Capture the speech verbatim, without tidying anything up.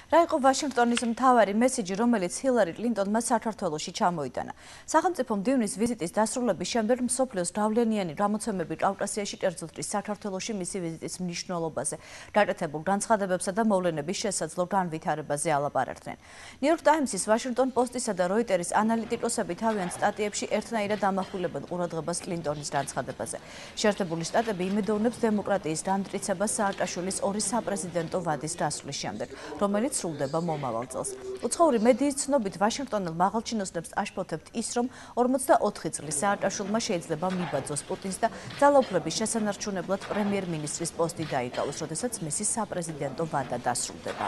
რა იყო ვაშინგტონის მთავარი მესიჯი, რომელიც ჰილარი კლინტონმა საქართველოში ჩამოიტანა? სახელმწიფო მდივნის ვიზიტის დასრულების შემდეგ მსოფლიოს გავლენიანი გამოცემები კავკასიაში კერძოდ საქართველოში მისი ვიზიტის მნიშვნელობაზე, გაკეთებულ განცხადებებსა და მოვლენების შესაძლო განვითარებაზე ალაპარაკდნენ. ნიუ-იორკ ტაიმსის, ვაშინგტონ პოსტისა და როიტერის ანალიტიკოსები თავიანთ სტატიებში ერთნაირად ამახვილებენ ყურადღებას კლინტონის განცხადებაზე. შეერთებული შტატები იმედოვნებს დემოკრატიის განმტკიცებას სააკაშვილის ორი საპრეზიდენტო ვადის დასვლის შემდეგ, რომელიც სრულდება მომავალ წელს. უცხოური მედიის ცნობით, ვაშინგტონელ მაღალჩინოსნებს აშფოთებთ ის, რომ ორმოცდაოთხი წლის სააკაშვილმა შეიძლება მიბაძოს პუტინს და ძალაუფლების შესანარჩუნებლად პრემიერ-მინისტრის პოსტი დაიკავოს, როდესაც მისი საპრეზიდენტო ვადა დასრულდება.